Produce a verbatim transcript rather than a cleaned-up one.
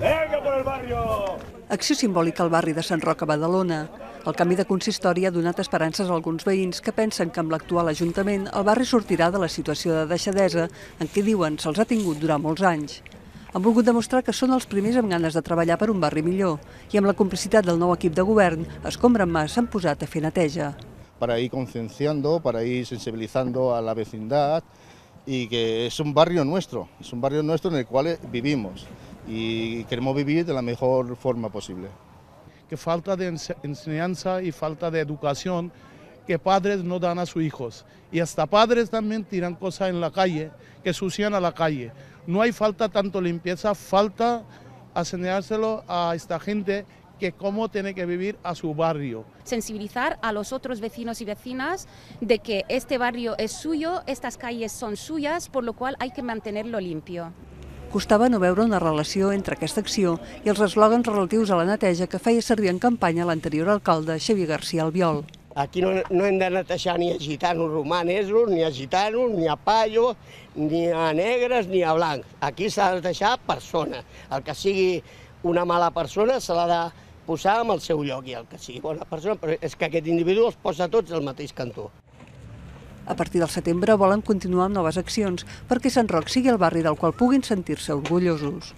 Venga por el barrio! Acció simbòlica al barri de Sant Roc a Badalona. El canvi de consistori ha donat esperances a alguns veïns que pensen que amb l'actual Ajuntament el barri sortirà de la situació de deixadesa en què diuen se'ls ha tingut durant molts anys. Han volgut demostrar que són els primers amb ganes de treballar per un barri millor i amb la complicitat del nou equip de govern, Escombra en Mà s'han posat a fer neteja. Para ir concienciando, para ir sensibilizando a la vecindad y que es un barrio nuestro, es un barrio nuestro en el cual vivimos y queremos vivir de la mejor forma posible. Que falta de enseñanza y falta de educación que padres no dan a sus hijos. Y hasta padres también tiran cosas en la calle, que sucian a la calle. No hay falta tanto limpieza, falta enseñárselo a esta gente que cómo tiene que vivir a su barrio. Sensibilizar a los otros vecinos y vecinas de que este barrio es suyo, estas calles son suyas, por lo cual hay que mantenerlo limpio. Costava no veure una relació entre aquesta acció i els eslògans relatius a la neteja que feia servir en campanya l'anterior alcalde Xavier García Albiol. Aquí no, no hem de netejar ni a gitanos romanesos, ni a gitanos, ni a payos, ni a negres, ni a blancs. Aquí s'ha de netejar persona. El que sigui una mala persona se l'ha de posar en el seu lloc i el que sigui bona persona, però és que aquest individu els posa tots al mateix cantó. A partir del setembre volen continuar amb noves accions perquè Sant Roc sigui el barri del qual puguin sentir-se orgullosos.